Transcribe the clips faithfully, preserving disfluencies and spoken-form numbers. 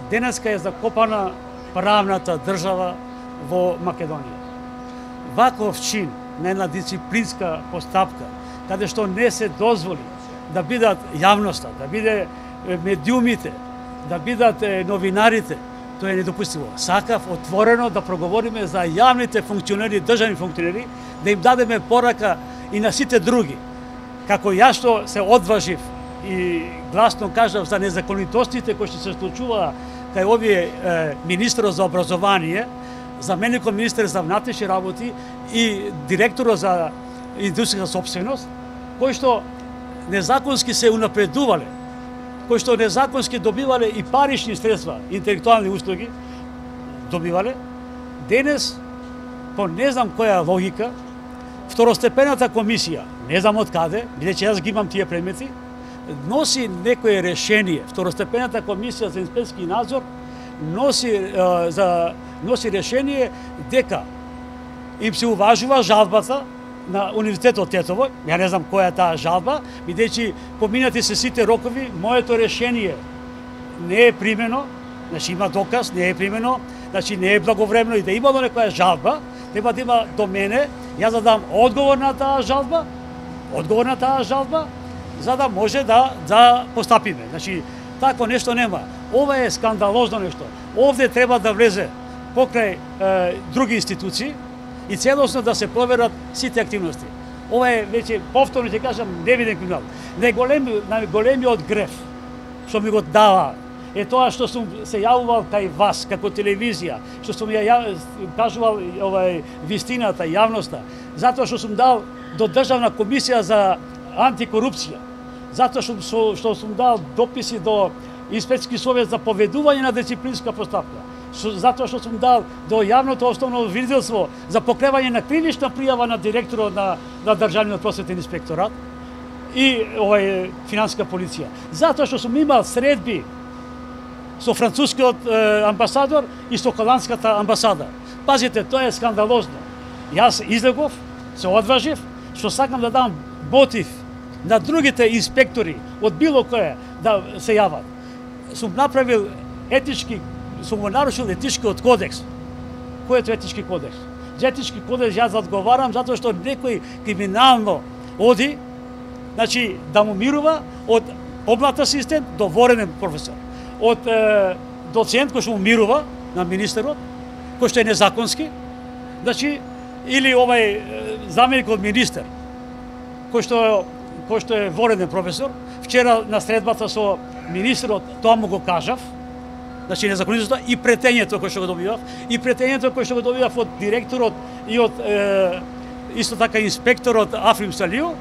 денеска е закопана правната држава во Македонија. Ваков чин на една дисциплинска постапка, каде што не се дозволи да бидат јавноста, да биде медиумите, да бидат новинарите, тоа е недопустимо. Сакав отворено да проговориме за јавните функционери, државни функционери, да им дадеме порака и на сите други. Како јас што се одважив и гласно кажав за незаконитостите кои што се случуваа кај овие е, министерот за образование, заменикот министер за внатрешни работи и директорот за индустријска собственост, кои што незаконски се унапредувале, кои што незаконски добивале и парични средства, интелектуални услуги, добивале, денес, по не знам која логика, второстепената комисија, не знам од каде, бидејќи јас ги имам тие предмети, носи некое решение, второстепената комисија за инспекцијски надзор носи е, за носи решение дека им се уважува жалбата на Универзитетот Тетово, ја не знам која е таа жалба, бидејќи поминати се сите рокови, моето решение не е примено, значи има доказ, не е примено, значи не е благовремено и да имало некоја жалба, треба да има до мене, јас да дам одговор на таа жалба, одговор на таа жалба, за да може да да постапиме. Значи такво нешто нема. Ова е скандалозно нешто. Овде треба да влезе покрај е, други институции и целосно да се проверат сите активности. Ова е веќе повторно ќе кажам невиден криминал. Најголеми, најголемиот греф што ми го дава е тоа што сум се јавувал кај вас како телевизија, што сум ја, ја кажувал овај вистината, јавноста, затоа што сум дал до Државна комисија за антикорупција, затоа што, што сум дал дописи до Инспекцијски совет за поведување на дисциплинска постапка, затоа што сум дал до јавното основно обвинителство за покревање на кривична пријава на директорот на, на Државниот просветен инспекторат и овај финансиска полиција. Затоа што сум имал средби со францускиот е, амбасадор и со холандската амбасада. Пазите, тоа е скандалозно. Јас излегов, се одважив, што сакам да дам мотив на другите инспектори од било кое да се јават. Сум направил етички, сум го нарушил етичкиот кодекс. Кој е тоа етички кодекс? За етички кодекс јас одговарам затоа што некој криминално оди, значи да му мирува од помлад асистент до воренен професор, од е, доцент кој што му мирува на министерот, кој што е незаконски, значи или овај заменик од министер, кој што кој што е воренен професор. Вчера на средбата со министерот тоа му го кажав, значи незаконитоста и претењето кој што го добивав, и претењето кој што го добивав од директорот и од е, исто така инспекторот Африм Салио,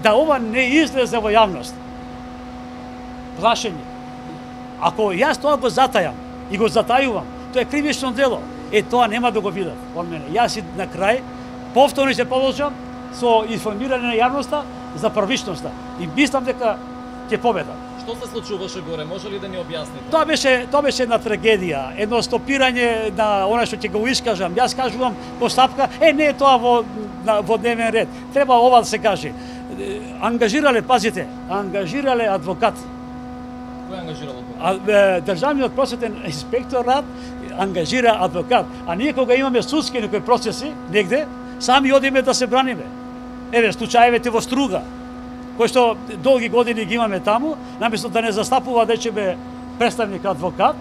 да ова не излезе во јавност. Плашење. Ако јас тоа го затајам и го затајувам, тоа е кривично дело. Е, тоа нема да го видат од мене. Јас и на крај повторно се положам со информирање на јавноста за првичноста и мислам дека ќе победам. Што се случуваше горе? Може ли да ни објасните? Тоа беше тоа беше една трагедија, едно стопирање на она што ќе го искажам. Јас кажувам постапка, е не е тоа во на, во дневен ред. Треба ова да се каже. Ангажирале, пазите, ангажирале адвокат. Кој ангажирал адвокат? Државниот просветен инспекторат ангажира адвокат, а ние кога имаме судски некои процеси негде, сами одиме да се браниме. Еве случаевите во Струга, кои што долги години ги имаме таму, наместо да не застапува дечебе представник адвокат,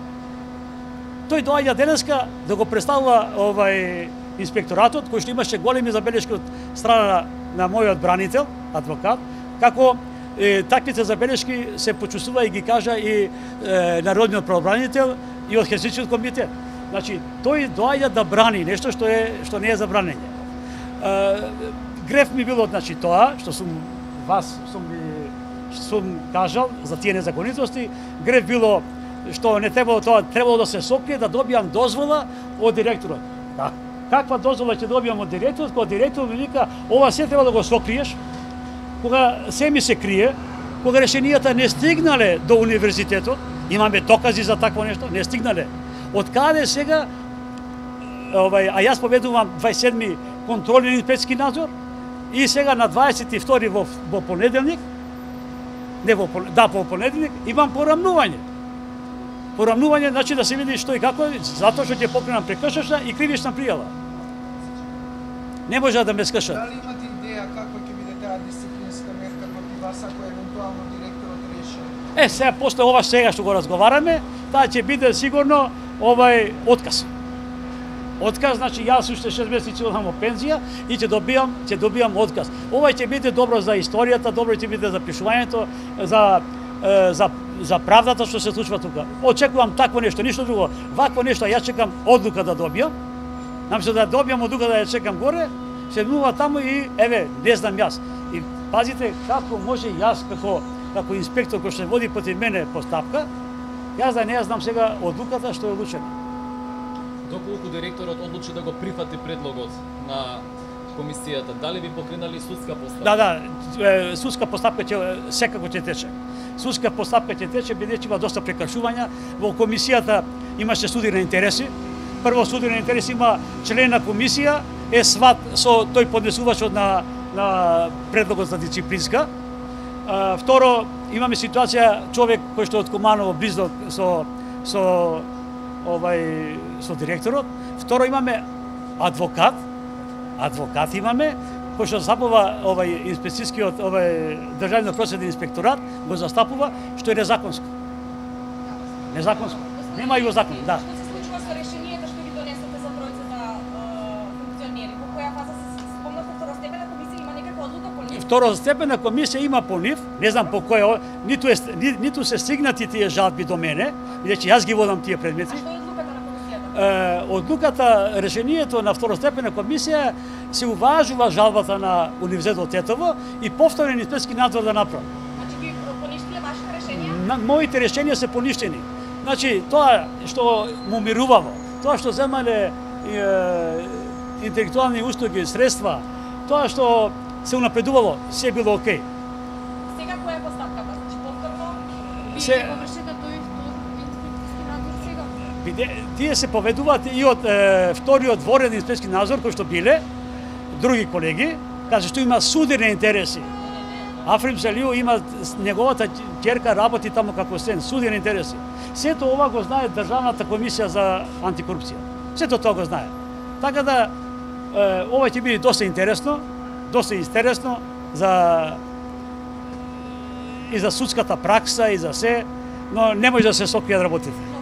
тој доаѓа денеска да го представува овај инспекторатот, кој што имаше големи забелешки од страна на мојот бранител, адвокат, како е, таквите забелешки се почувствува и ги кажа и е, народниот правобранител и од Хелсинскиот комитет. Значи, тој доаѓа да брани нешто што е што не е забранење. Е, греф ми било, значи, тоа што сум вас сум сум кажал за тие незаконитости, греф било што не требало тоа, требало да се сокрие, да добијам дозвола од директорот. Да. Каква дозвола ќе добијам од директорот, кога директорот ми вика, ова се треба да го сокриеш, кога се ми се крие, кога решенијата не стигнале до универзитетот, имаме докази за такво нешто, не стигнале. Од каде сега, овај, а јас поведувам двајсет и седми контролен инспекцијски надзор, и сега на дваесет и втори во, во понеделник, не во да, во понеделник, имам порамнување. Порамнување значи да се види што и како, затоа што ќе покренам прекршачна и кривична пријава. Не може да ме скршат. Дали имате идеја како ќе биде таа дисциплинска мерка против вас ако евентуално директорот реши? Е, сега после ова сега што го разговараме, таа ќе биде сигурно овај отказ. Отказ, значи јас уште шест месеци одам во пензија и ќе добијам, ќе добијам отказ. Ова ќе биде добро за историјата, добро ќе биде за пишувањето, за за за правдата што се случува тука. Очекувам такво нешто, ништо друго. Вакво нешто јас чекам одлука да добијам. Наместо да добијам одлука да ја чекам горе, седнува таму и еве, не знам јас. И пазите како може јас како како инспектор кој што води против мене постапка, јас да не ја знам сега одлуката што е одлучена. Доколку директорот одлучи да го прифати предлогот на комисијата, дали би покренали судска постапка? Да, да, судска постапка ќе секако ќе тече. Судска постапка ќе тече бидејќи има доста прекршувања. Во комисијата имаше суди на интереси. Прво суди на интереси има член на комисија, е сват со тој поднесувачот на на предлогот за дисциплинска. А, второ, имаме ситуација човек кој што од Куманово близок со со овај со директорот. Второ, имаме адвокат, адвокат имаме кој што застапува овај инспекцијскиот овај државниот просветен инспекторат го застапува, што е незаконско. Незаконско. Нема и во закон, да. Што се случува со решението што ги донесете за тројцата функционери? Во која фаза се спомнавте второстепена комисија има некаква одлука по нив? Второстепена комисија има по нив, не знам по која, ниту е ни, ниту се стигнати тие жалби до мене, бидејќи јас ги водам тие предмети. А што е одлуката на комисијата? Е, одлуката, решението на второстепена комисија се уважува жалбата на Универзитетот Тетово и повторен инспекцијски надзор да направи. Значи ги поништиле вашите решенија? На, моите решенија се поништени. Значи, тоа што му мирувало, тоа што земале е, интелектуални услуги, средства, тоа што се унапредувало, се било окей. Сега која е постапката? Значи повторно Вие Се- го вршите тој инспекцијски надзор сега? Биде, тие се поведуваат и од е, вториот дворен инспекцијски надзор кој што биле други колеги, каже што има судирни интереси. Африм Селио има неговата ќерка работи таму како сен, судирни интереси. Сето ова го знае Државната комисија за антикорупција. Сето тоа го знае. Така да е, ова ќе биде доста интересно, доста интересно за и за судската пракса и за се, но не може да се сокријат работите.